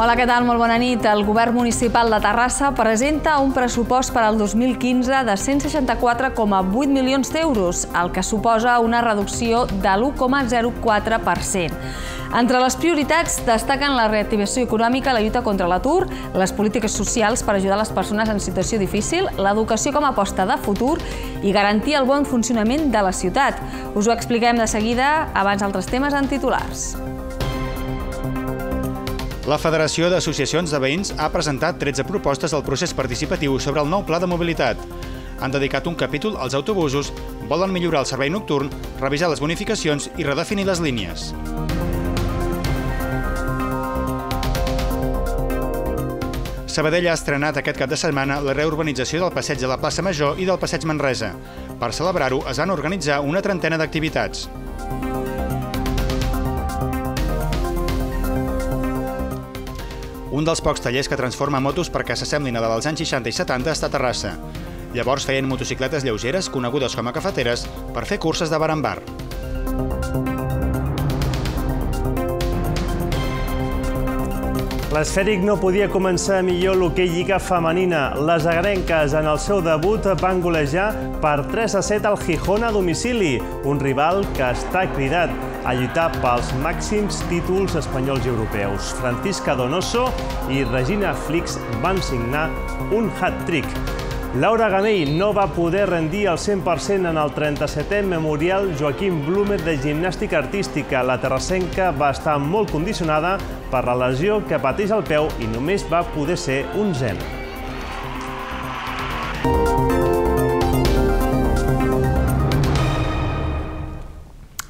Hola, què tal? Molt bona nit. El Govern Municipal de Terrassa presenta un pressupost per al 2015 de 164,8 milions d'euros, el que suposa una reducció de l'1,04%. Entre les prioritats destaquen la reactivació econòmica, la lluita contra l'atur, les polítiques socials per ajudar les persones en situació difícil, l'educació com a aposta de futur i garantir el bon funcionament de la ciutat. Us ho expliquem de seguida, abans altres temes en titulars. La Federació d'Associacions de Veïns ha presentat 13 propostes al procés participatiu sobre el nou pla de mobilitat. Han dedicat un capítol als autobusos, volen millorar el servei nocturn, revisar les bonificacions i redefinir les línies. Sabadell ha estrenat aquest cap de setmana la reurbanització del passeig de la plaça Major i del passeig Manresa. Per celebrar-ho es van organitzar una trentena d'activitats. Un dels pocs tallers que transforma motos perquè s'assemblin a la dels anys 60 i 70 està a Terrassa. Llavors feien motocicletes lleugeres, conegudes com a cafeteres, per fer curses de bar en bar. L'Esfèric no podia començar millor l'hoquei lliga femenina. Les agrenques en el seu debut van golejar per 3-7 al Gijón a domicili, un rival que està cridat a lluitar pels màxims títols espanyols i europeus. Francisca Donoso i Regina Flix van signar un hat-trick. Laura Ganell no va poder rendir al 100% en el 37è Memorial Joaquim Blume de gimnàstica artística. La terrassenca va estar molt condicionada per la lesió que pateix al peu i només va poder ser un 0.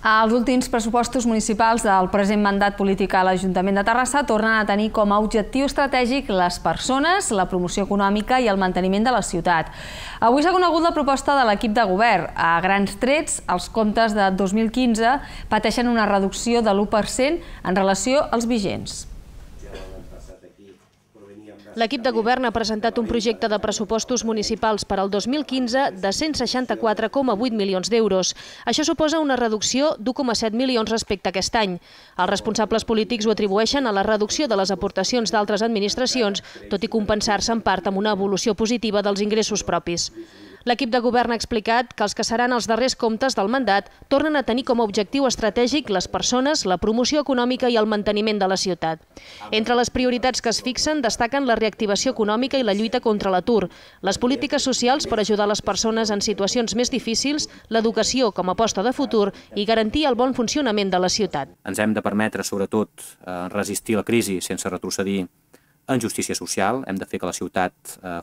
Els últims pressupostos municipals del present mandat polític a l'Ajuntament de Terrassa tornen a tenir com a objectiu estratègic les persones, la promoció econòmica i el manteniment de la ciutat. Avui s'ha conegut la proposta de l'equip de govern. A grans trets, els comptes de 2015 pateixen una reducció de l'1% en relació als vigents. L'equip de govern ha presentat un projecte de pressupostos municipals per al 2015 de 164,8 milions d'euros. Això suposa una reducció d'1,7 milions respecte a aquest any. Els responsables polítics ho atribueixen a la reducció de les aportacions d'altres administracions, tot i compensar-se en part amb una evolució positiva dels ingressos propis. L'equip de govern ha explicat que els que seran els darrers comptes del mandat tornen a tenir com a objectiu estratègic les persones, la promoció econòmica i el manteniment de la ciutat. Entre les prioritats que es fixen destaquen la reactivació econòmica i la lluita contra l'atur, les polítiques socials per ajudar les persones en situacions més difícils, l'educació com a aposta de futur i garantir el bon funcionament de la ciutat. Ens hem de permetre, sobretot, resistir la crisi sense retrocedir en justícia social, hem de fer que la ciutat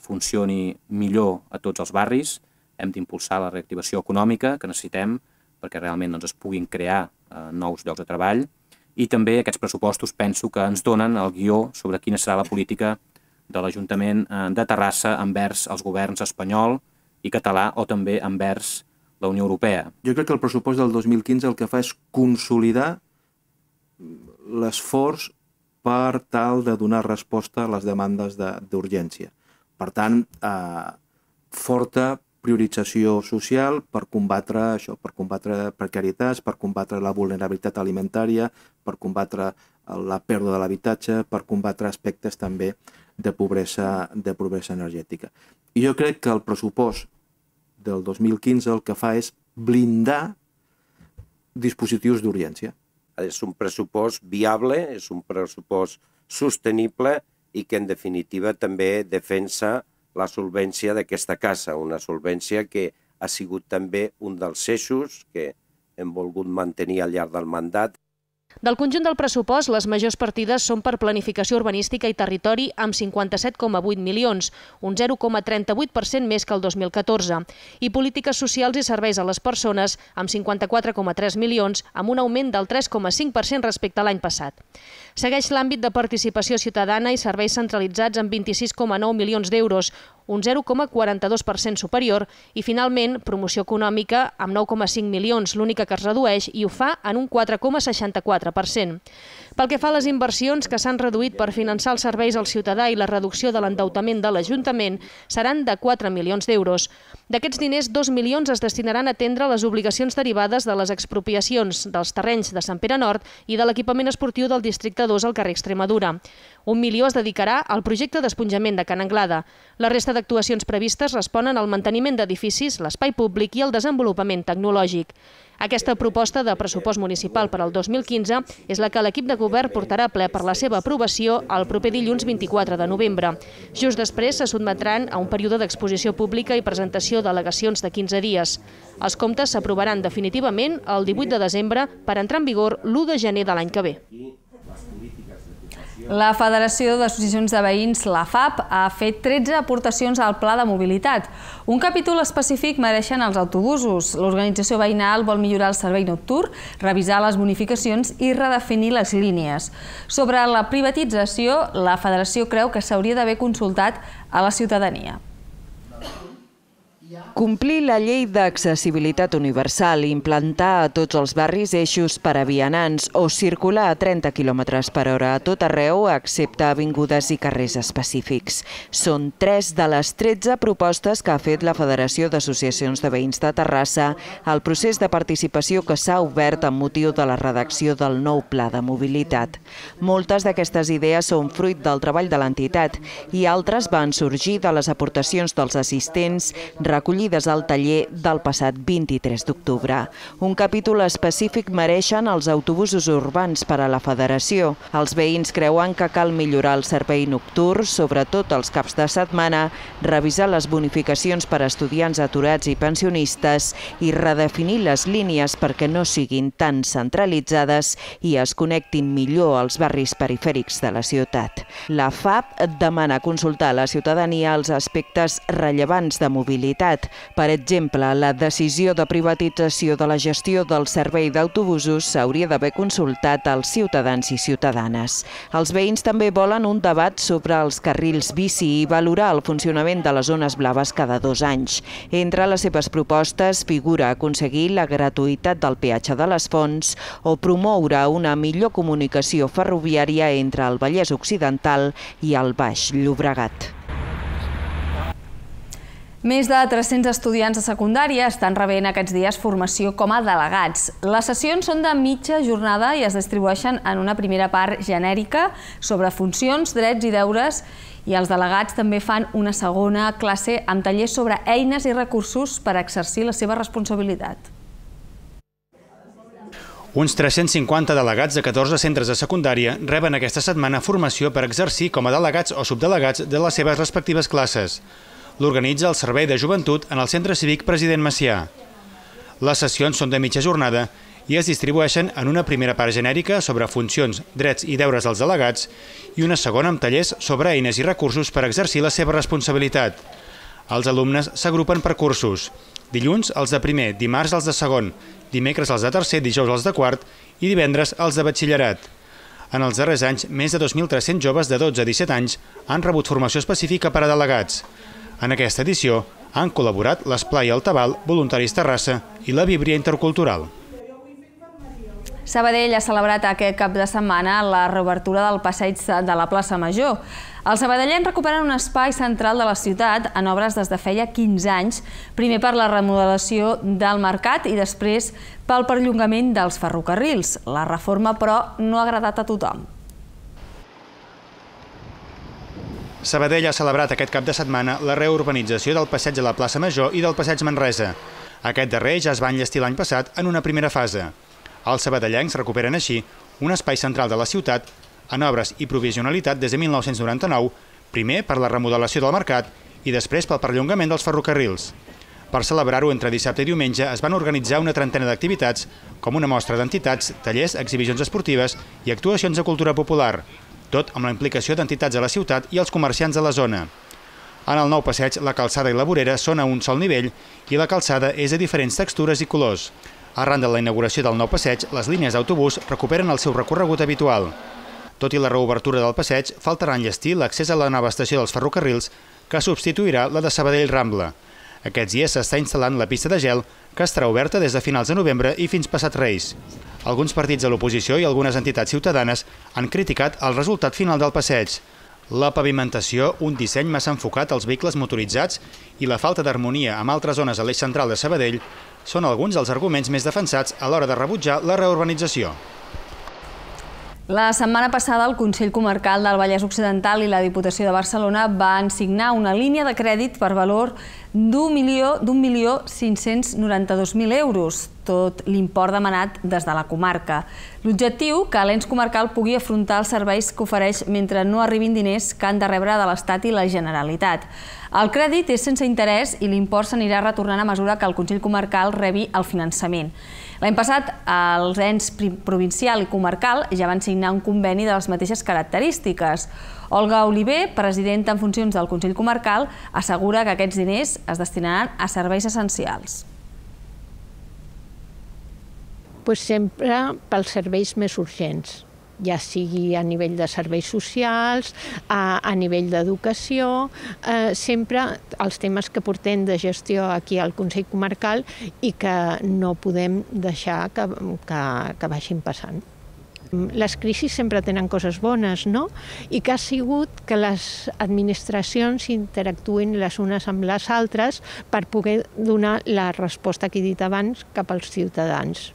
funcioni millor a tots els barris, hem d'impulsar la reactivació econòmica que necessitem perquè realment es puguin crear nous llocs de treball i també aquests pressupostos penso que ens donen el guió sobre quina serà la política de l'Ajuntament de Terrassa envers els governs espanyol i català o també envers la Unió Europea. Jo crec que el pressupost del 2015 el que fa és consolidar l'esforç per tal de donar resposta a les demandes d'urgència. Per tant, forta priorització social per combatre això, per combatre precarietats, per combatre la vulnerabilitat alimentària, per combatre la pèrdua de l'habitatge, per combatre aspectes també de pobresa energètica. I jo crec que el pressupost del 2015 el que fa és blindar dispositius d'urgència. És un pressupost viable, és un pressupost sostenible i que en definitiva també defensa la solvència d'aquesta casa, una solvència que ha sigut també un dels eixos que hem volgut mantenir al llarg del mandat. Del conjunt del pressupost, les majors partides són per planificació urbanística i territori amb 57,8 milions, un 0,38% més que el 2014, i polítiques socials i serveis a les persones amb 54,3 milions, amb un augment del 3,5% respecte a l'any passat. Segueix l'àmbit de participació ciutadana i serveis centralitzats amb 26,9 milions d'euros, un 0,42% superior, i finalment promoció econòmica amb 9,5 milions, l'única que es redueix, i ho fa en un 4,64%. Pel que fa a les inversions que s'han reduït per finançar els serveis al ciutadà i la reducció de l'endeutament de l'Ajuntament seran de 4 milions d'euros. D'aquests diners, 2 milions es destinaran a atendre les obligacions derivades de les expropiacions dels terrenys de Sant Pere Nord i de l'equipament esportiu del districte 2 al carrer Extremadura. 1 milió es dedicarà al projecte d'esponjament de Can Anglada. La resta d'actuacions previstes responen al manteniment d'edificis, l'espai públic i el desenvolupament tecnològic. Aquesta proposta de pressupost municipal per al 2015 és la que l'equip de govern portarà a ple per la seva aprovació el proper dilluns 24 de novembre. Just després se sotmetran a un període d'exposició pública i presentació d'al·legacions de 15 dies. Els comptes s'aprovaran definitivament el 18 de desembre per entrar en vigor l'1 de gener de l'any que ve. La Federació d'Associacions de Veïns, la FAP, ha fet 13 aportacions al Pla de Mobilitat. Un capítol específic mereixen els autobusos. L'organització veïnal vol millorar el servei nocturn, revisar les bonificacions i redefinir les línies. Sobre la privatització, la Federació creu que s'hauria d'haver consultat a la ciutadania. Complir la llei d'accessibilitat universal, implantar a tots els barris eixos per a vianants o circular a 30 km per hora a tot arreu, excepte avingudes i carrers específics. Són 3 de les 13 propostes que ha fet la Federació d'Associacions de Veïns de Terrassa al procés de participació que s'ha obert amb motiu de la redacció del nou Pla de Mobilitat. Moltes d'aquestes idees són fruit del treball de l'entitat i altres van sorgir de les aportacions dels assistents recollides al taller del passat 23 d'octubre. Un capítol específic mereixen els autobusos urbans per a la Federació. Els veïns creuen que cal millorar el servei nocturn, sobretot els caps de setmana, revisar les bonificacions per a estudiants aturats i pensionistes i redefinir les línies perquè no siguin tan centralitzades i es connectin millor als barris perifèrics de la ciutat. La FAP demana consultar a la ciutadania els aspectes rellevants de mobilitat. Per exemple, la decisió de privatització de la gestió del servei d'autobusos s'hauria d'haver consultat als ciutadans i ciutadanes. Els veïns també volen un debat sobre els carrils bici i valorar el funcionament de les zones blaves cada 2 anys. Entre les seves propostes figura aconseguir la gratuïtat del peatge de les Fonts o promoure una millor comunicació ferroviària entre el Vallès Occidental i el Baix Llobregat. Més de 300 estudiants de secundària estan rebent aquests dies formació com a delegats. Les sessions són de mitja jornada i es distribueixen en una primera part genèrica sobre funcions, drets i deures, i els delegats també fan una segona classe amb tallers sobre eines i recursos per exercir la seva responsabilitat. Uns 350 delegats de 14 centres de secundària reben aquesta setmana formació per exercir com a delegats o subdelegats de les seves respectives classes. L'organitza el Servei de Joventut en el Centre Cívic President Macià. Les sessions són de mitja jornada i es distribueixen en una primera part genèrica sobre funcions, drets i deures dels delegats i una segona amb tallers sobre eines i recursos per exercir la seva responsabilitat. Els alumnes s'agrupen per cursos. Dilluns els de primer, dimarts els de segon, dimecres els de tercer, dijous els de quart i divendres els de batxillerat. En els darrers anys, més de 2.300 joves de 12 a 17 anys han rebut formació específica per a delegats. En aquesta edició han col·laborat l'Esplai Altabal, Voluntaris Terrassa i la Víbria Intercultural. Sabadell ha celebrat aquest cap de setmana la reobertura del passeig de la plaça Major. Els sabadellens recuperen un espai central de la ciutat en obres des de feia 15 anys, primer per la remodelació del mercat i després pel perllongament dels ferrocarrils. La reforma, però, no ha agradat a tothom. Sabadell ha celebrat aquest cap de setmana la reurbanització del passeig de la plaça Major i del passeig Manresa. Aquest darrer ja es va enllestir l'any passat en una primera fase. Els sabadellencs recuperen així un espai central de la ciutat en obres i provisionalitat des de 1999, primer per la remodelació del mercat i després pel perllongament dels ferrocarrils. Per celebrar-ho entre dissabte i diumenge es van organitzar una trentena d'activitats, com una mostra d'entitats, tallers, exhibicions esportives i actuacions de cultura popular, tot amb la implicació d'entitats de la ciutat i els comerciants de la zona. En el nou passeig, la calçada i la vorera són a un sol nivell i la calçada és de diferents textures i colors. Arran de la inauguració del nou passeig, les línies d'autobús recuperen el seu recorregut habitual. Tot i la reobertura del passeig, faltarà enllestir l'accés a la nova estació dels ferrocarrils, que substituirà la de Sabadell Rambla. Aquests dies s'està instal·lant la pista de gel, que estarà oberta des de finals de novembre i fins passat Reis. Alguns partits de l'oposició i algunes entitats ciutadanes han criticat el resultat final del passeig. La pavimentació, un disseny massa enfocat als vehicles motoritzats i la falta d'harmonia amb altres zones a l'eix central de Sabadell són alguns dels arguments més defensats a l'hora de rebutjar la reurbanització. La setmana passada, el Consell Comarcal del Vallès Occidental i la Diputació de Barcelona van signar una línia de crèdit per valor d'1.592.000 euros, tot l'import demanat des de la comarca. L'objectiu, que l'ens comarcal pugui afrontar els serveis que ofereix mentre no arribin diners que han de rebre de l'Estat i la Generalitat. El crèdit és sense interès i l'import s'anirà retornant a mesura que el Consell Comarcal rebi el finançament. L'any passat, els ens provincial i comarcal ja van signar un conveni de les mateixes característiques. Olga Oliver, presidenta en funcions del Consell Comarcal, assegura que aquests diners es destinaran a serveis essencials. Sempre pels serveis més urgents, ja sigui a nivell de serveis socials, a nivell d'educació, sempre els temes que portem de gestió aquí al Consell Comarcal i que no podem deixar que vagin passant. Les crisis sempre tenen coses bones, no? I que ha sigut que les administracions interactuïn les unes amb les altres per poder donar la resposta que he dit abans cap als ciutadans.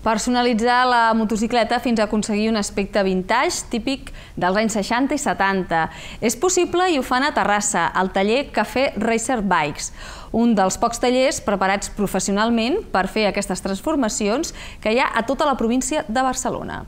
Personalitzar la motocicleta fins a aconseguir un aspecte vintage típic dels anys 60 i 70. És possible i ho fan a Terrassa, al taller Cafè Racer Bikes, un dels pocs tallers preparats professionalment per fer aquestes transformacions que hi ha a tota la província de Barcelona.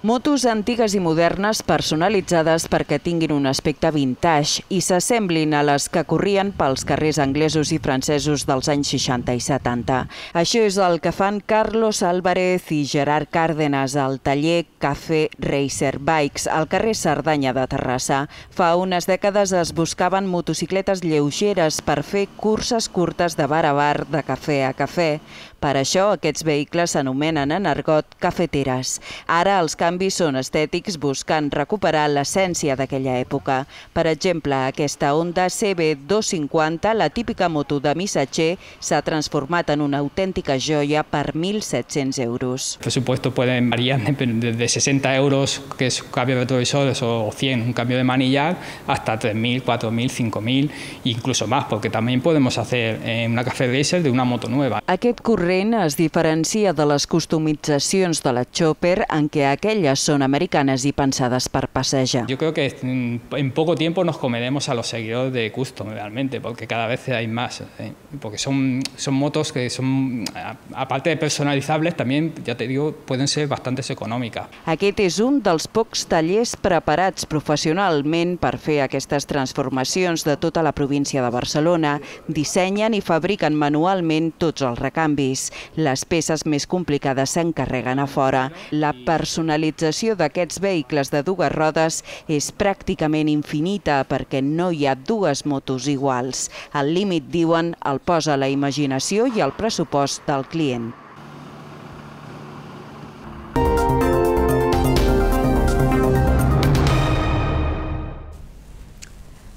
Motos antigues i modernes personalitzades perquè tinguin un aspecte vintage i s'assemblin a les que corrien pels carrers anglesos i francesos dels anys 60 i 70. Això és el que fan Carlos Álvarez i Gerard Cárdenas al taller Cafè Racer Bikes al carrer Cerdanya de Terrassa. Fa unes dècades es buscaven motocicletes lleugeres per fer curses curtes de bar a bar, de cafè a cafè. Per això aquests vehicles s'anomenen en argot cafeteres. Ara els canvis són estètics buscant recuperar l'essència d'aquella època. Per exemple, aquesta Honda CB250, la típica moto de missatger, s'ha transformat en una autèntica joia per 1.700 euros. El presupuesto puede variar desde 60 euros, que es cambio de retrovisores, o 100, un cambio de manillar, hasta 3.000, 4.000, 5.000, incluso más, porque también podemos hacer una Cafè Racer de una moto nueva. Aquest corrent es diferencia de les customitzacions de la Chopper en què aquelles són americanes i pensades per passejar. Yo creo que en poco tiempo nos comeremos a los seguidores de Custom realmente, porque cada vez hay más, porque son motos que son, aparte de personalizables, también, ya te digo, pueden ser bastante econòmiques. Aquest és un dels pocs tallers preparats professionalment per fer aquestes transformacions de tota la província de Barcelona. Dissenyen i fabriquen manualment tots els recanvis. Les peces més complicades s'encarreguen a fora. La personalització d'aquests vehicles de dues rodes és pràcticament infinita perquè no hi ha dues motos iguals. El límit, diuen, el posa la imaginació i el pressupost del client.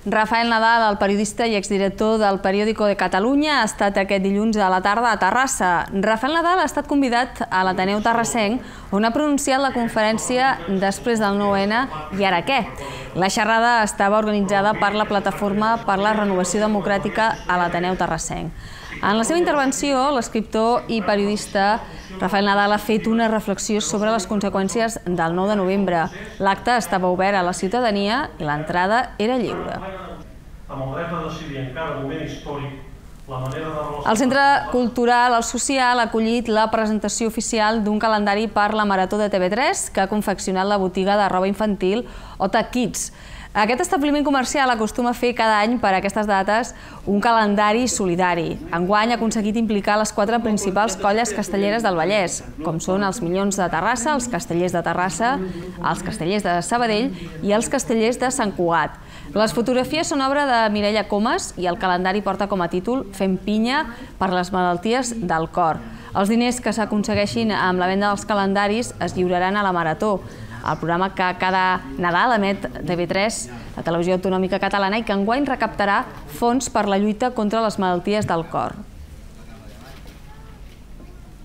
Rafael Nadal, el periodista i exdirector del Periódico de Catalunya, ha estat aquest dilluns a la tarda a Terrassa. Rafael Nadal ha estat convidat a l'Ateneu Terrassenc, on ha pronunciat la conferència després del 9-N i ara què? La xerrada estava organitzada per la Plataforma per la Renovació Democràtica a l'Ateneu Terrassenc. En la seva intervenció, l'escriptor i periodista Rafael Nadal ha fet una reflexió sobre les conseqüències del 9 de novembre. L'acte estava obert a la ciutadania i l'entrada era lliure. Amb el dret a decidir en cada moment històric la manera de... El Centre Cultural El Social ha acollit la presentació oficial d'un calendari per la Marató de TV3 que ha confeccionat la botiga de roba infantil Ota Kids. Aquest establiment comercial acostuma a fer cada any per a aquestes dates un calendari solidari. Enguany ha aconseguit implicar les 4 principals colles castelleres del Vallès, com són els Minyons de Terrassa, els Castellers de Terrassa, els Castellers de Sabadell i els Castellers de Sant Cugat. Les fotografies són obra de Mireia Comas i el calendari porta com a títol Fem pinya per les malalties del cor. Els diners que s'aconsegueixin amb la venda dels calendaris es lliuraran a la Marató. el programa que cada Nadal emet TV3, la televisió autonòmica catalana, i que enguany recaptarà fons per la lluita contra les malalties del cor.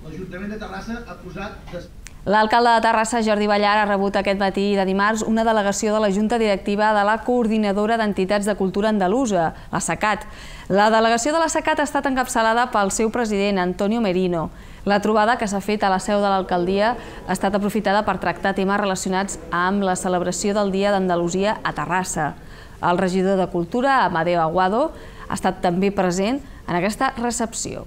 L'Ajuntament de Terrassa ha posat... L'alcalde de Terrassa, Jordi Ballar, ha rebut aquest matí de dimarts una delegació de la Junta Directiva de la Coordinadora d'Entitats de Cultura Andalusa, la SACAT. La delegació de la SACAT ha estat encapçalada pel seu president, Antonio Merino. La trobada, que s'ha fet a la seu de l'alcaldia, ha estat aprofitada per tractar temes relacionats amb la celebració del Dia d'Andalusia a Terrassa. El regidor de Cultura, Amadeo Aguado, ha estat també present en aquesta recepció.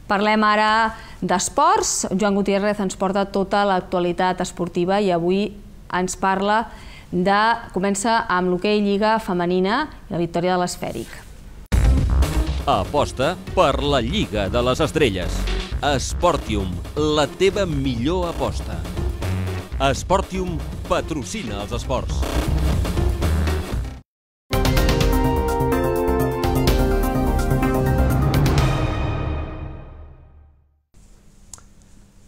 Parlem ara d'esports. Joan Gutiérrez ens porta tota l'actualitat esportiva i avui ens parla comença amb l'hoquei Lliga Femenina i la victòria de l'Esfèric. Aposta per la Lliga de les Estrelles. Sportium, la teva millor aposta. Sportium patrocina els esports.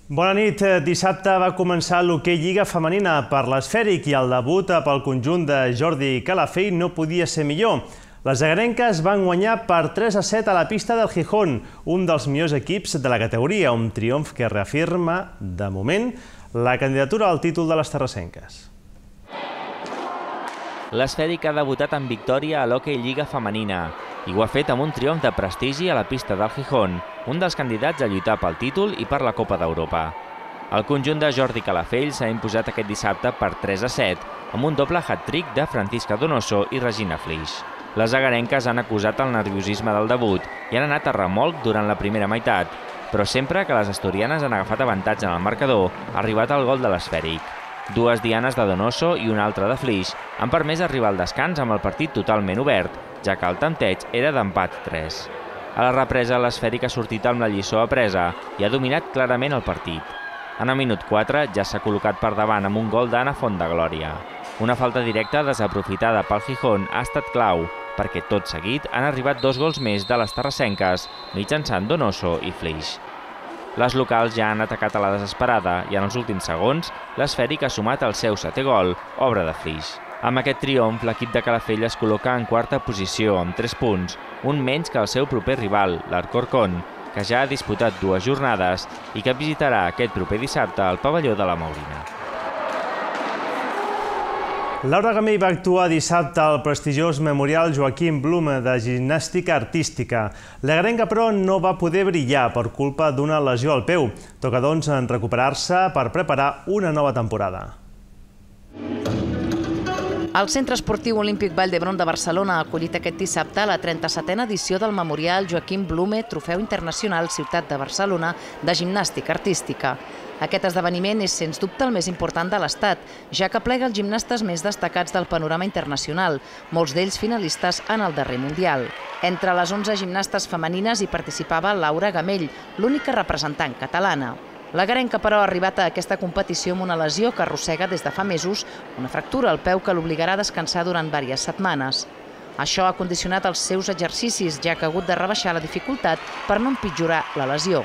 Bona nit. Dissabte va començar l'hoquei Lliga Femenina per l'Esfèric i el debut pel conjunt de Jordi Calafell no podia ser millor. Les agarenques van guanyar per 3-7 a la pista del Gijón, un dels millors equips de la categoria, un triomf que reafirma, de moment, la candidatura al títol de les terrassenques. L'Esfèric ha debutat en victòria a l'hoquei Lliga Femenina i ho ha fet amb un triomf de prestigi a la pista del Gijón, un dels candidats a lluitar pel títol i per la Copa d'Europa. El conjunt de Jordi Calafell s'ha imposat aquest dissabte per 3-7, amb un doble hat-trick de Francisca Donoso i Regina Flix. Les agarenques han acusat el nerviosisme del debut i han anat a remolc durant la primera meitat, però sempre que les asturianes han agafat avantatge en el marcador, ha arribat el gol de l'Esfèric. Dues dianes de Donoso i una altra de Flix han permès arribar al descans amb el partit totalment obert, ja que el tanteig era d'empat 3. A la represa, l'Esfèric ha sortit amb la lliçó apresa i ha dominat clarament el partit. En el minut 4 ja s'ha col·locat per davant amb un gol d'Anna Fontdeglòria. Una falta directa desaprofitada pel Gijón ha estat clau, perquè tot seguit han arribat 2 gols més de les terrassenques, mitjançant Donoso i Flix. Les locals ja han atacat a la desesperada i en els últims segons l'Esfèric ha sumat el seu 7è gol, obra de Flix. Amb aquest triomf, l'equip de Calafell es col·loca en quarta posició amb 3 punts, un menys que el seu proper rival, l'Alcorcón, que ja ha disputat 2 jornades i que visitarà aquest proper dissabte al pavelló de la Maurina. Laura Gamell va actuar dissabte al prestigiós Memorial Joaquim Blum de gimnàstica artística. L'agarenca, però, no va poder brillar per culpa d'una lesió al peu. Toca, doncs, recuperar-se per preparar una nova temporada. El Centre Esportiu Olímpic Vall d'Hebron de Barcelona ha acollit aquest dissabte la 37a edició del Memorial Joaquim Blume Trofeu Internacional Ciutat de Barcelona de gimnàstica artística. Aquest esdeveniment és, sens dubte, el més important de l'Estat, ja que aplega els gimnastes més destacats del panorama internacional, molts d'ells finalistes en el darrer Mundial. Entre les 11 gimnastes femenines hi participava Laura Gamell, l'única representant catalana. L'agarenca, però, ha arribat a aquesta competició amb una lesió que arrossega des de fa mesos, una fractura al peu que l'obligarà a descansar durant diverses setmanes. Això ha condicionat els seus exercicis, ja que ha hagut de rebaixar la dificultat per no empitjorar la lesió.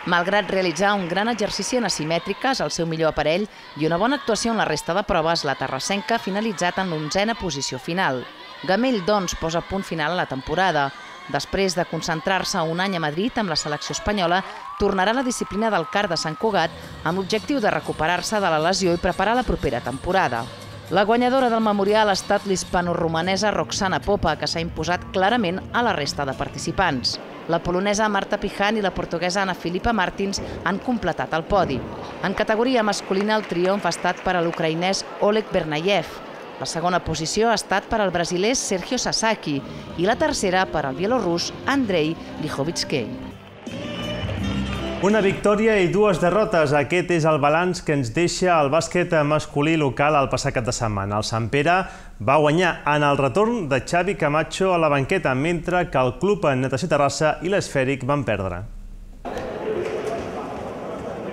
Malgrat realitzar un gran exercici en asimètriques, el seu millor aparell i una bona actuació en la resta de proves, la terrassenca ha finalitzat en l'11a posició final. Gamell, doncs, posa punt final a la temporada. Després de concentrar-se un any a Madrid amb la selecció espanyola, tornarà a la disciplina del kart de Sant Cugat amb l'objectiu de recuperar-se de la lesió i preparar la propera temporada. La guanyadora del Memorial ha estat l'hispano-romanesa Roxana Popa, que s'ha imposat clarament a la resta de participants. La polonesa Marta Pijan i la portuguesa Ana Filipa Martins han completat el podi. En categoria masculina, el triomf ha estat per a l'ucraïnès Oleg Bernayev. La segona posició ha estat per al brasiler Sergio Sasaki i la tercera per al bielorrus Andrei Lichovitskei. Una victòria i 2 derrotes. Aquest és el balanç que ens deixa el bàsquet masculí local el passat cap de setmana. El Sant Pere va guanyar en el retorn de Xavi Camacho a la banqueta, mentre que el Club Natació Terrassa i l'Esfèric van perdre.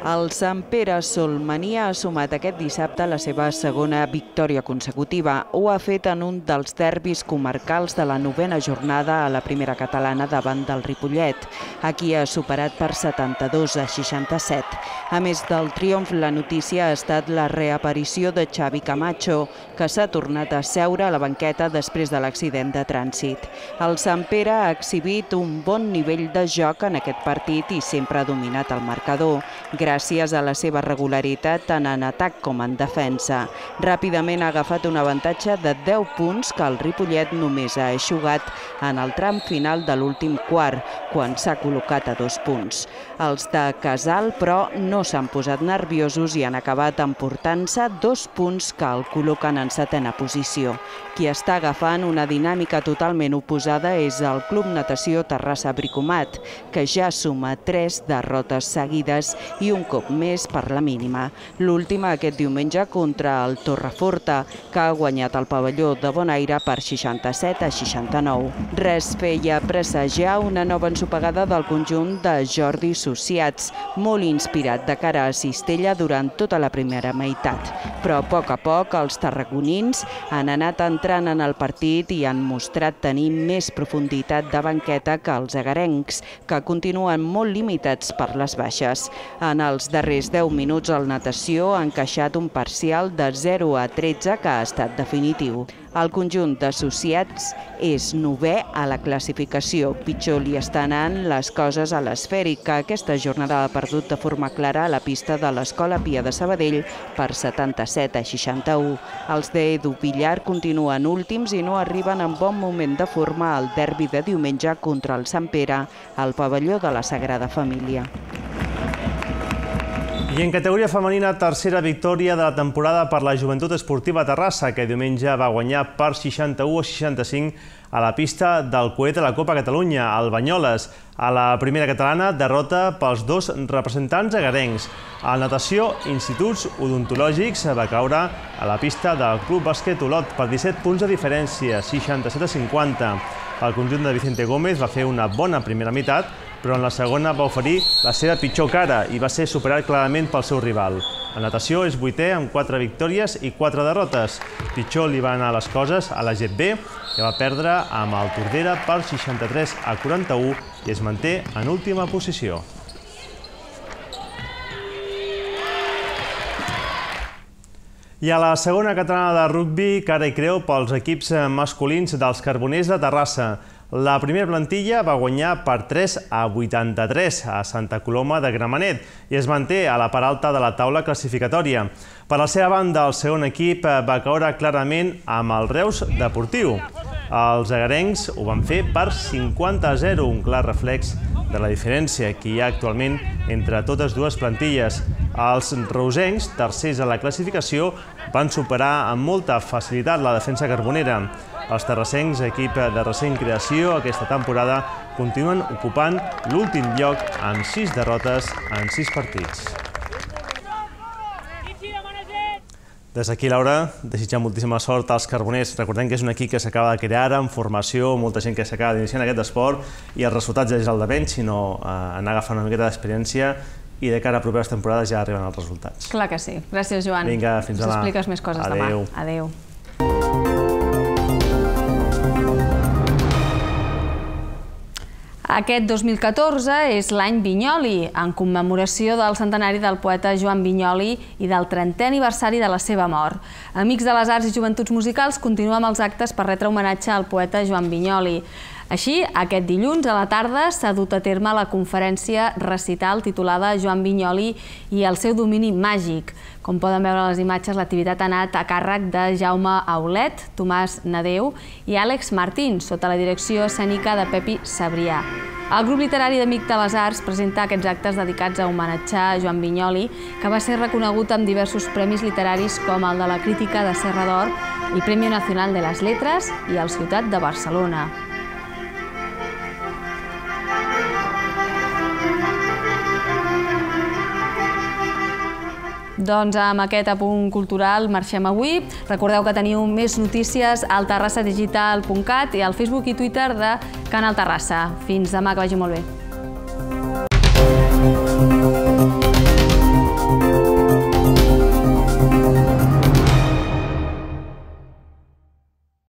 El Sant Pere Solmania ha sumat aquest dissabte la seva segona victòria consecutiva. Ho ha fet en un dels derbis comarcals de la 9a jornada a la primera catalana davant del Ripollet. Aquí ha superat per 72-67. A més del triomf, la notícia ha estat la reaparició de Xavi Camacho, que s'ha tornat a seure a la banqueta després de l'accident de trànsit. El Sant Pere ha exhibit un bon nivell de joc en aquest partit i sempre ha dominat el marcador, gràcies a la seva regularitat tant en atac com en defensa. Ràpidament ha agafat un avantatge de 10 punts que el Ripollet només ha eixugat en el tram final de l'últim quart, quan s'ha col·locat a 2 punts. Els de Casal, però, no s'han posat nerviosos i han acabat emportant-se 2 punts que el col·loquen en 7a posició. Qui està agafant una dinàmica totalment oposada és el Club Natació Terrassa Bricomat, que ja suma 3 derrotes seguides i un cop més per la mínima. L'última aquest diumenge contra el Torreforta, que ha guanyat el pavelló de Bonaire per 67-69. Res feia presagiar una nova ensopegada del conjunt de Jordi Sociats, molt inspirat de cara a Cistella durant tota la primera meitat. Però a poc els tarragonins han anat entrant en el partit i han mostrat tenir més profunditat de banqueta que els agarencs, que continuen molt limitats per les baixes. En els darrers 10 minuts el Natació ha encaixat un parcial de 0-13 que ha estat definitiu. El conjunt d'associats és 9è a la classificació. Pitjor li estan anant les coses a l'Esfèric, que aquesta jornada ha perdut de forma clara a la pista de l'Escola Pia de Sabadell per 77-61. Els d'Edu Villar continuen últims i no arriben en bon moment de forma al derbi de diumenge contra el Sant Pere al pavelló de la Sagrada Família. I en categoria femenina, tercera victòria de la temporada per la Joventut Esportiva Terrassa, que diumenge va guanyar per 61-65 a la pista del coet de la Copa Catalunya, al Banyoles. A la primera catalana, derrota pels 2 representants agarencs. El Natació Instituts Odontològics va caure a la pista del Club Bàsquet Olot per 17 punts de diferència, 67-50. El conjunt de Vicente Gómez va fer una bona primera meitat, però en la segona va oferir la seva pitjor cara i va ser superat clarament pel seu rival. El Natació és 8è amb 4 victòries i 4 derrotes. Pitjor li van anar les coses a la GEP-B, que va perdre amb el Tordera per 63-41 i es manté en última posició. I a la segona catalana de rugbi, cara i creu pels equips masculins dels Carboners de Terrassa. La primera plantilla va guanyar per 3-83 a Santa Coloma de Gramenet i es manté a la part alta de la taula classificatòria. Per la seva banda, el segon equip va caure clarament amb el Reus Deportiu. Els agarencs ho van fer per 50-0, un clar reflex de la diferència que hi ha actualment entre totes dues plantilles. Els reusencs, tercers a la classificació, van superar amb molta facilitat la defensa carbonera. Els terrassencs, equip de recent creació aquesta temporada, continuen ocupant l'últim lloc amb 6 derrotes en 6 partits. Des d'aquí, Laura, desitjar moltíssima sort als carboners. Recordem que és un equip que s'acaba de crear ara, en formació, molta gent que s'acaba d'iniciar en aquest esport i els resultats ja és el de menys, sinó anar agafant una miqueta d'experiència i de cara a properes temporades ja arriben els resultats. Clar que sí. Gràcies, Joan. Vinga, fins demà. Ens expliques més coses demà. Adéu. Adéu. Aquest 2014 és l'any Vinyoli, en commemoració del centenari del poeta Joan Vinyoli i del 30è aniversari de la seva mort. Amics de les Arts i Joventuts Musicals continua amb els actes per retre homenatge al poeta Joan Vinyoli. Així, aquest dilluns a la tarda s'ha dut a terme la conferència recital titulada Joan Vinyoli i el seu domini màgic. Com poden veure a les imatges, l'activitat ha anat a càrrec de Jaume Aulet, Tomàs Nadeu i Àlex Martín, sota la direcció escènica de Pepi Sabrià. El grup literari d'Amics de les Arts presenta aquests actes dedicats a homenatjar Joan Vinyoli, que va ser reconegut amb diversos premis literaris com el de la Crítica de Serra d'Or, el Premi Nacional de les Letras i el Ciutat de Barcelona. Doncs amb aquest apunt cultural marxem avui. Recordeu que teniu més notícies al terrassadigital.cat i al Facebook i Twitter de Canal Terrassa. Fins demà, que vagi molt bé.